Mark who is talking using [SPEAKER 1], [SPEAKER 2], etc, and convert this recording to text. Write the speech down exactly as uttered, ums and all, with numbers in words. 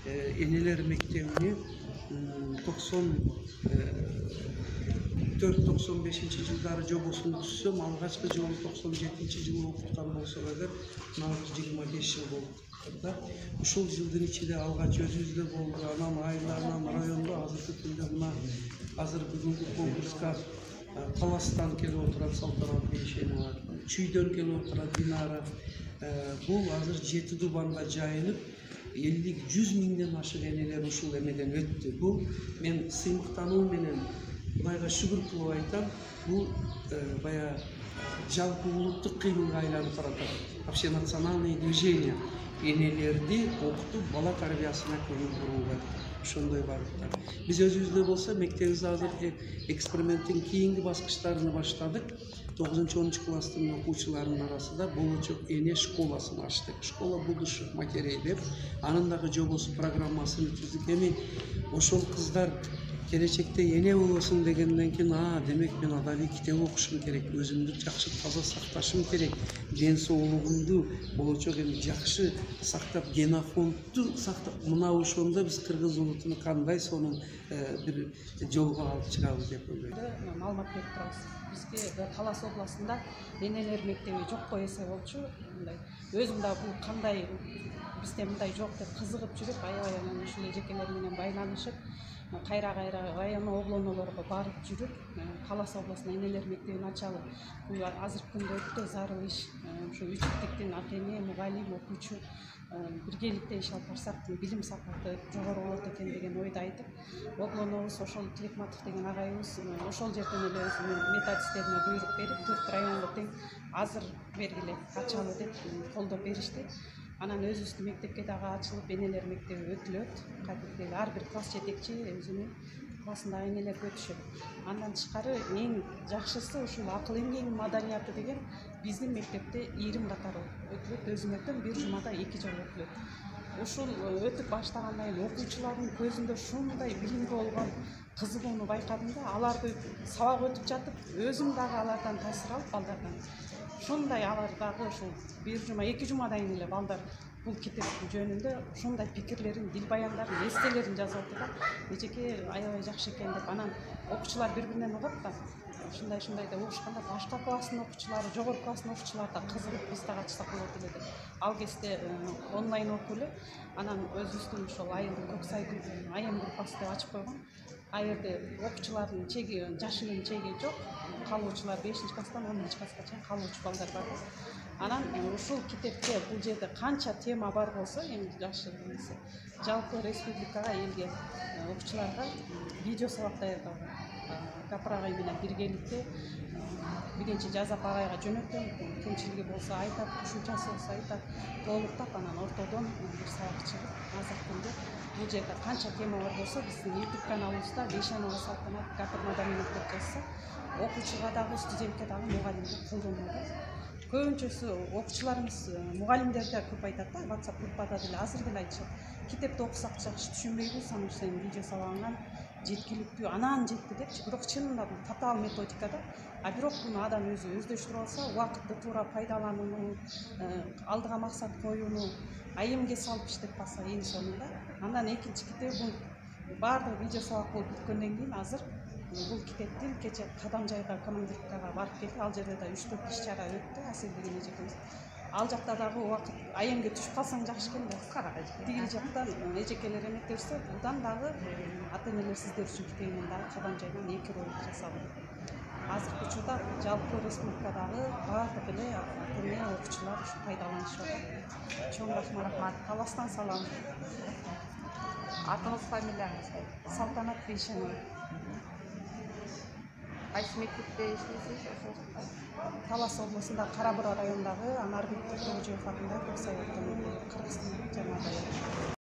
[SPEAKER 1] энелер мектебине токсон төрт токсон бешинчи жылдары жобосун түзсөм, алгачкы жолу токсон жетинчи жылы окуткан болсок эгер, мына жыйырма беш жыл болуп да. Ушул жылдын ичинде алгач өзүбүздө болду, анан айылда, анан райондо азыркы күндө мына азыр бүгүнкү конкурска Таластан келип отурат Салтанат Бейшенова, Чүйдөн келип отурат Динара. Бул азыр жети дубанга жайылып, элүү жүз миңден ашык энелер ушул эмеден өттү. Бул мен сыймыктануу менен Кудайга шүгүр кылып айтам, бул бая жалпы улуттук кыймылга айланып баратат. Вообще национальное движение энелерди окутуп, бала тарбиясына көңүл бурууга ошондой багытта. Биз өзүбүздө болсо мектебибизде азыр эксперименттин кийинки баскычтарын баштадык. тогузунчу онунчу класстын окуучуларынын арасында болочок эне школасын ачтык. Школа будущих матерей деп, анын дагы жобосу, программасын түздүк. Эми ошол кыздар келечекте эне болосун дегенден кийин, а, демек мен адабий китеп окушум керек, өзүмдү жакшы таза сакташым керек, ден соолугумду болочок эми жакшы сактап, генофондду сактап, мына ошондо биз кыргыз улутун кандай сонун бир жолго алып чыгабыз деп ойлойм.
[SPEAKER 2] Маалымат берип турабыз. Бизге Талас областында энелер мектеби жокко эсе болчу. Мындай өзүм да бул кандай бизде мындай жок деп кызыгып жүрүп, аябай анан ушул эжекелер менен байланышып, кайра-кайра район облонолорго барып жүрүп, Талас областына энелер мектебин ачалы. Бул азыркы күндө өтө зарыл иш. Ушу үч типтин ата эне, мугалим, окуучу биргеликте иш алып барсак, билим сапаты жогору болот экен деген ойду айтып, облонобуз ошол Тилекматов деген агайыбыз ошол жерден эле өзүнүн методисттерине буйрук берип, төрт районго тең азыр бергиле ачалы деп колдоп беришти. Анан өзүбүздүн мектепке дагы ачылып, энелер мектеби өтүлөт. Кадимки ар бир класс жетекчи өзүнүн классындагы энелерге өтүшөт. Андан тышкары эң жакшысы ушул акыл эмгегинин маданияты деген биздин мектепте ийрим катары өтүлөт. Өзүм өтөм, бир жумада эки жолу өтүлөт. Ушул өтүп баштагандан кийин окуучулардын көзүндө ушундай билимге болгон кызыгууну байкадым да, аларды сабак өтүп жатып, өзүм дагы алардан таасир алып, балдардан ушундай алар дагы ушул бир жума, эки жумадан кийин эле балдар бул китеп жөнүндө ушундай пикирлерин, дил баяндарын, эстелерин жазып атты да, эжеке аябай жакшы экен деп. Анан окуучулар бири-биринен угат да, ушундай-ушундай деп угушканда башка класстын окуучулары, жогорку класстын окуучулары да кызыгып, биз дагы ачсак болот эле деп. Ал кезде онлайн окуп эле, анан өзүбүздүн ошол айылдын Көксай айым группасы деп ачып койгон. Ал жерде окуучулардын чеги, жашынын чеги жок. Калуучулар бешинчи класстан онунчу класска чейин калуучу балдар бар. Анан ушул китепте бул жерде канча тема бар болсо, эми жакшы нерсе, жалпы республикага, элге, окуучуларга видео сабак даярдалган. Гапыр агай менен биргеликте биринчи жазап агайга жөнөтөм, кемчилиги болсо айтат, кошумчасы болсо айтат, толуктап анан ортодон бир сабак чыгып, азыркы күндө бул жерде канча тема бар болсо, биздин YouTube каналыбызда Бейшенова Салтанат Гапыр маданият деп жазса, окуучуга дагы, студентке дагы, мугалимге колдонуу. Көбүнчөсү окуучуларыбыз, мугалимдер да көп айтат да, WhatsApp группада деле азыр деле айтышат. Китепти окусак жакшы түшүнбөйбүз, анан сенин видео сабагыңан жеткиликтүү, анан жетти депчи. Бирок чынында бул татаал методика да. А бирок буну адам өзү өздөштүрүп алса, убакытты туура пайдаланууну, алдыга максат коюуну, айымге салып иштеп калса эң сонунда. Андан экинчи китеп бул баардык видео сабак болуп бүткөндөн кийин азыр бул китептин кече Кадамжайга командировкага барып келди. Ал жерде да үч төрт иш чара өттү, Асел деген эжекебиз. Ал жакта дагы убакыт айымге түшүп калсаң жакшы экен да. Тигил жактан эжекелер эметтебизде, будан дагы ата энелер сиздер үчүн китебинен дагы Кадамжайдан эки ролик жасалды. Азыркы учурда жалпы республикадагы баардык эле ата эне, окуучулар ушу пайдаланышып атат. Чоң рахмат. Таластан салам.
[SPEAKER 3] Атыңыз, фамилияңыз?
[SPEAKER 2] Салтанат Бейшенова.
[SPEAKER 3] Кайсы мектепте иштейсиз?
[SPEAKER 2] Талас областында Кара-Бура районундагы Анарбек Токожоев атындагы Көксай ортодон Кыргызстан жамааты.